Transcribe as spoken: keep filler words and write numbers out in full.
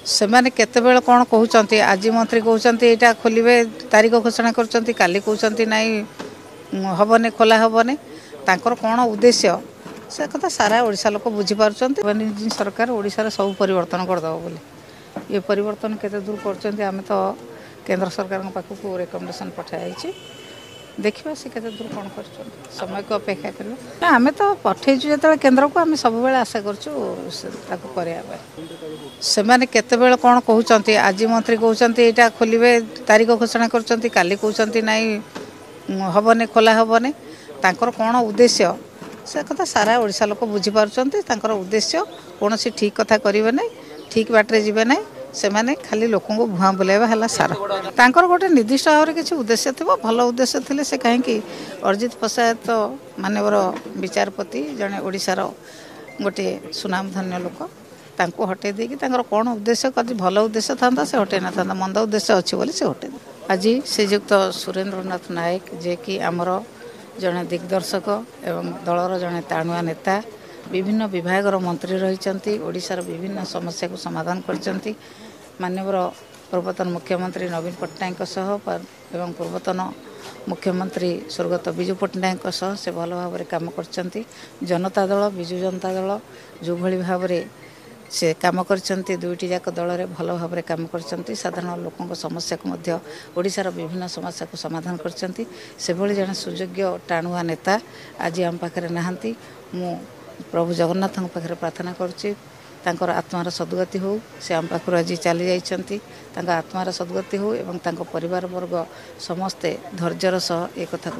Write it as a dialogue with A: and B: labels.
A: ସେମାନେ କେତେବେଳେ କ'ଣ କହୁଛନ୍ତି? ଆଜି ମନ୍ତ୍ରୀ କହୁଛନ୍ତି ଏଇଟା ଖୋଲିବେ, ତାରିଖ ଘୋଷଣା କରୁଛନ୍ତି, କାଲି କହୁଛନ୍ତି ନାଇଁ ହେବନି, ଖୋଲା ହେବନି। ତାଙ୍କର କ'ଣ ଉଦ୍ଦେଶ୍ୟ ସେ କଥା ସାରା ଓଡ଼ିଶା ଲୋକ ବୁଝିପାରୁଛନ୍ତି। ସରକାର ଓଡ଼ିଶାରେ ସବୁ ପରିବର୍ତ୍ତନ କରିଦେବ ବୋଲି ଏ ପରିବର୍ତ୍ତନ କେତେ ଦୂର କରୁଛନ୍ତି, ଆମେ ତ କେନ୍ଦ୍ର ସରକାରଙ୍କ ପାଖକୁ ରେକମେଣ୍ଡେସନ୍ ପଠାଯାଇଛି। ଦେଖିବା ସେ କେତେ ଦୂର କ'ଣ କରୁଛନ୍ତି, ସମୟକୁ ଅପେକ୍ଷା କରିବା। ନା, ଆମେ ତ ପଠେଇଛୁ ଯେତେବେଳେ କେନ୍ଦ୍ରକୁ, ଆମେ ସବୁବେଳେ ଆଶା କରୁଛୁ ତାକୁ କରିବା ପାଇଁ। ସେମାନେ କେତେବେଳେ କ'ଣ କହୁଛନ୍ତି? ଆଜି ମନ୍ତ୍ରୀ କହୁଛନ୍ତି ଏଇଟା ଖୋଲିବେ, ତାରିଖ ଘୋଷଣା କରୁଛନ୍ତି, କାଲି କହୁଛନ୍ତି ନାଇଁ ହେବନି, ଖୋଲା ହେବନି। ତାଙ୍କର କ'ଣ ଉଦ୍ଦେଶ୍ୟ ସେ କଥା ସାରା ଓଡ଼ିଶା ଲୋକ ବୁଝିପାରୁଛନ୍ତି। ତାଙ୍କର ଉଦ୍ଦେଶ୍ୟ କୌଣସି ଠିକ୍ କଥା କରିବେ ନାହିଁ, ଠିକ୍ ବାଟରେ ଯିବେ ନାହିଁ। ସେମାନେ ଖାଲି ଲୋକଙ୍କୁ ଭୁଆଁ ବୁଲାଇବା ହେଲା ସାର। ତାଙ୍କର ଗୋଟେ ନିର୍ଦ୍ଦିଷ୍ଟ ଭାବରେ କିଛି ଉଦ୍ଦେଶ୍ୟ ଥିବ। ଭଲ ଉଦ୍ଦେଶ୍ୟ ଥିଲେ ସେ କାହିଁକି? ଅରିଜିତ ପଶାୟତ ମାନ୍ୟବର ବିଚାରପତି, ଜଣେ ଓଡ଼ିଶାର ଗୋଟିଏ ସୁନାମଧନ୍ୟ ଲୋକ, ତାଙ୍କୁ ହଟେଇ ଦେଇକି ତାଙ୍କର କ'ଣ ଉଦ୍ଦେଶ୍ୟ? ଯଦି ଭଲ ଉଦ୍ଦେଶ୍ୟ ଥାନ୍ତା ସେ ହଟେଇ ନଥାନ୍ତା, ମନ୍ଦ ଉଦ୍ଦେଶ୍ୟ ଅଛି ବୋଲି ସେ ହଟେଇ। ଆଜି ଶ୍ରୀଯୁକ୍ତ ସୁରେନ୍ଦ୍ରନାଥ ନାୟକ, ଯିଏକି ଆମର ଜଣେ ଦିଗ୍ଦର୍ଶକ ଏବଂ ଦଳର ଜଣେ ଟାଣୁଆ ନେତା, ବିଭିନ୍ନ ବିଭାଗର ମନ୍ତ୍ରୀ ରହିଛନ୍ତି, ଓଡ଼ିଶାର ବିଭିନ୍ନ ସମସ୍ୟାକୁ ସମାଧାନ କରିଛନ୍ତି, ମାନ୍ୟବର ପୂର୍ବତନ ମୁଖ୍ୟମନ୍ତ୍ରୀ ନବୀନ ପଟ୍ଟନାୟକଙ୍କ ସହ ଏବଂ ପୂର୍ବତନ ମୁଖ୍ୟମନ୍ତ୍ରୀ ସ୍ୱର୍ଗତ ବିଜୁ ପଟ୍ଟନାୟକଙ୍କ ସହ ସେ ଭଲ ଭାବରେ କାମ କରିଛନ୍ତି। ଜନତା ଦଳ, ବିଜୁ ଜନତା ଦଳ ଯେଉଁଭଳି ଭାବରେ ସେ କାମ କରିଛନ୍ତି, ଦୁଇଟି ଯାକ ଦଳରେ ଭଲ ଭାବରେ କାମ କରିଛନ୍ତି, ସାଧାରଣ ଲୋକଙ୍କ ସମସ୍ୟାକୁ ମଧ୍ୟ, ଓଡ଼ିଶାର ବିଭିନ୍ନ ସମସ୍ୟାକୁ ସମାଧାନ କରିଛନ୍ତି। ସେଭଳି ଜଣେ ସୁଯୋଗ୍ୟ ଟାଣୁଆ ନେତା ଆଜି ଆମ ପାଖରେ ନାହାନ୍ତି। ମୁଁ ପ୍ରଭୁ ଜଗନ୍ନାଥଙ୍କ ପାଖରେ ପ୍ରାର୍ଥନା କରୁଛି ତାଙ୍କର ଆତ୍ମାର ସଦ୍ଗତି ହେଉ। ସେ ଆମ ପାଖରୁ ଆଜି ଚାଲି ଯାଇଛନ୍ତି, ତାଙ୍କ ଆତ୍ମାର ସଦ୍ଗତି ହେଉ ଏବଂ ତାଙ୍କ ପରିବାର ବର୍ଗ ସମସ୍ତେ ଧୈର୍ଯ୍ୟର ସହ ଏ କଥାକୁ